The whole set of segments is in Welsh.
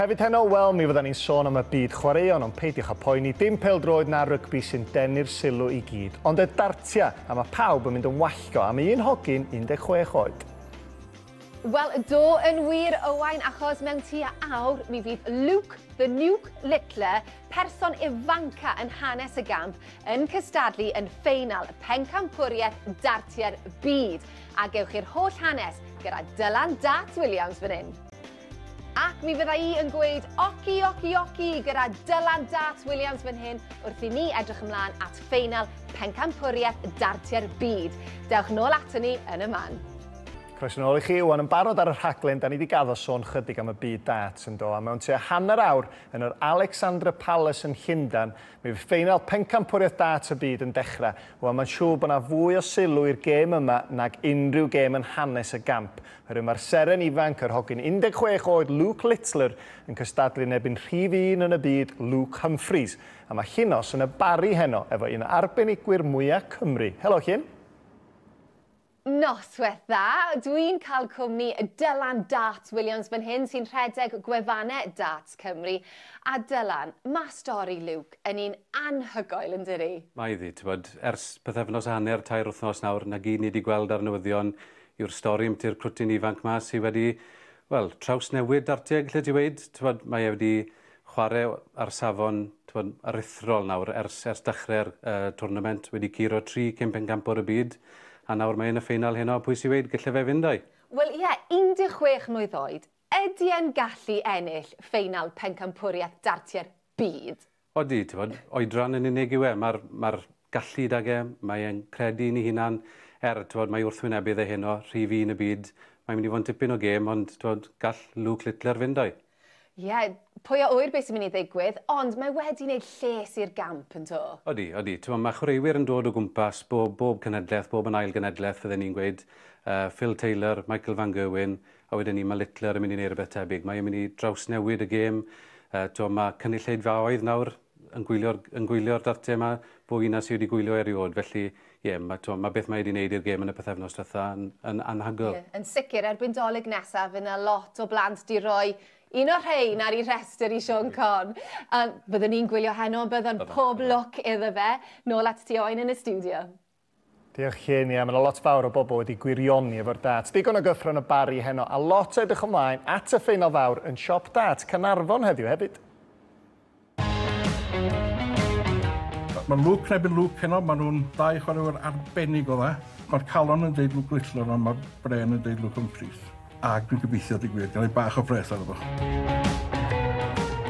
Hefyd heno, wel, mi fyddan ni'n sôn am y byd chwaraeon, ond peidiwch â poeni, dim pêl-droed na rygbi sy'n denu'r sylw i gyd, ond y dartia, a mae pawb yn mynd yn wallgo am un hogyn 16 oed. Wel, do yn wir, Owain, achos mewn tua awr mi fydd Luke the Nuke Littler, person ifanca yn hanes y gamp, yn cystadlu yn ffeinal pencampwriaeth dartiau'r byd. A gewch chi'r holl hanes gyda Dylan Darts Williams fan hyn. Ac mi fydda i yn gweud oci, oci, oci gyda Dylan Darts Williams fan hyn wrth i ni edrych ymlaen at ffeinal pencampwriaeth dartiau'r byd. Dewch nôl ato ni yn y man. Croeso nôl i chi. Wan yn barod ar y rhaglen, da ni wedi gaddo sôn chydig am y byd darts yn do, a mewn tua hanner awr yn yr Alexandra Palace yn Llundain, mi fydd ffeinal pencampwriaeth darts y byd yn dechrau. Wel, mae'n siŵr bod yna fwy o sylw i'r gêm yma nag unrhyw gêm yn hanes y gamp. Oherwydd mae'r seren ifanc, yr hogyn 16 oed Luke Littler, yn cystadlu yn erbyn rhif un yn y byd, Luke Humphries. A mae Llinos yn y Barri heno efo un o arbenigwyr mwyaf Cymru. Helo, Llin. Noswaith dda. Dwi'n cael cwmni Dylan Darts Williams fan hyn sy'n rhedeg gwefannau Darts Cymru. A Dylan, mae stori Luke yn un anhygoel yn dydi? Mae iddi, ti'n bod, ers pythefnos a hanner, 3 wythnos nawr, na gyd ni wedi gweld ar newyddion yw'r stori ambyti'r crwtyn ifanc ma sydd wedi, wel, trawsnewid dartiau, lle ti weud, ti'n bod, mae e wedi chwarae ar safon, ti'n bod, aruthrol nawr ers dechrau'r tournament, wedi curo 3 cyn pencampwr y byd, a nawr mae yn y ffeinal heno, pwy sy'n weud, gallai fe fynd o'i? Wel ie, 16 mlwydd oed, ydy e'n gallu ennill ffeinal pencampwriaeth dartiau'r byd? Odi, ti'n bod, oedran yn unig yw e, mae'r gallu dag e, mae e'n credu yn ei hunan, ti'n bod, mae wrthwynebydd e heno, rhif un y byd, mae'n mynd i fod yn tipyn o gêm, ond ti'n bod, gall Luke Littler fynd o'i. Ie, yeah, pwy a ŵyr beth sy'n mynd i ddigwydd, ond mae wedi wneud lles i'r gamp yn do? Odi, odi. Ti'n bod, mae chwaraewyr yn dod o gwmpas bob cenedlaeth, bob yn ail genedlaeth, fydden ni'n gweud. Phil Taylor, Michael Van Gerwen, a wedyn ni mae Littler yn mynd i wneud rhywbeth tebyg. Mae'n mynd i drawsnewid y gêm. Ti'n bod, mae cynulleidfaoedd nawr yn gwylio'r dartiau yma, fwy na sydd wedi gwylio erioed. Felly, ie, mae beth mae wedi wneud i'r gêm yn y pythefnos diwetha yn anhygoel. Yeah, yn sicr, erbyn Dolig nesaf, fydd yna lot o blant di roi un o'r rhain ar ei rhestr i Siôn Corn. Byddwn ni'n gwylio heno, byddwn pob lwc iddo fe. Nôl at ti Owain yn y stiwdio. Diolch Llin, ie, mae yna lot fawr o bobl wedi gwirioni efo'r darts. Digon o gyffro yn y Barri heno, a lot o edrych ymlaen at y ffeinal fawr yn siop dart Caernarfon heddiw hefyd. Mae Luke yn erbyn Luke heno, maen nhw'n ddau chwaraewyr arbennig o dda. Mae'r calon yn deud Luke Littler, ond mae'r bren yn deud Luke Humphries. A dwi'n gobeithio digwydd, gwir, gael ei bach o bres arno fo.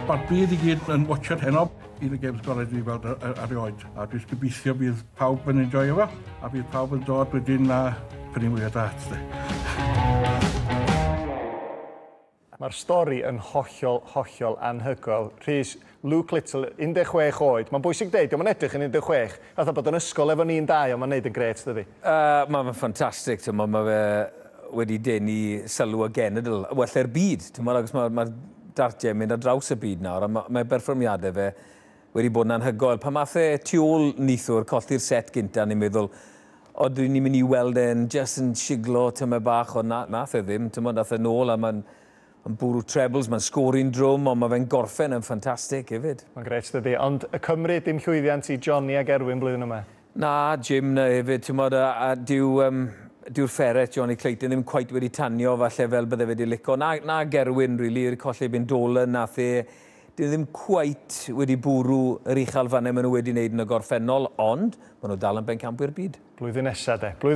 Mae'r byd i gyd yn watchad heno, un o'r games gorau dwi weld erioed. A dwi'n gobeithio bydd pawb yn enjoyo fo, a bydd pawb yn dod wedyn a prynu mwy o darts. Mae'r stori yn hollol, hollol anhygoel. Rhys, Luke Little, 16 oed. Mae'n bwysig deud, dio'm yn edrych yn 16. Fatha bod yn ysgol efo ni'n dau, ond mae'n neud yn grêt, dydi? Mae'n ffantastig, ti'n mae fe wedi denu sylw y genedl, well, e'r byd, ti'n meddwl, achos mae'r dartiau yn mynd ar draws y byd nawr, a mae berfformiadau fe wedi bod yn anhygoel. Pan math e tu ôl neithiwr, colli'r set gynta, ni'n meddwl, o, dwi ni'n mynd i weld e'n just yn siglo tymed bach, ond nath e ddim, ti'n meddwl, nath e nôl, a mae'n bwrw trebles, mae'n sgori'n drwm, ond mae fe'n gorffen yn ffantastig hefyd. Mae'n grêt, dydi. Ond y Cymru, dim llwyddiant i Johnny ag Erwin blwyddyn yma? Na, Jim na hefyd, ti'n modd, a dyw'r ferret Johnny Clayton ddim cweit wedi tanio falle fel bydde fe wedi lico. Na Gerwyn, really, i'r colli bin Dolan, nath e, dyn ddim cweit wedi bwrw yr uchelfannau maen nhw wedi wneud yn y gorffennol, ond maen nhw dal yn bencampwyr byd. Blwyddyn nesaf, de. Blwyddyn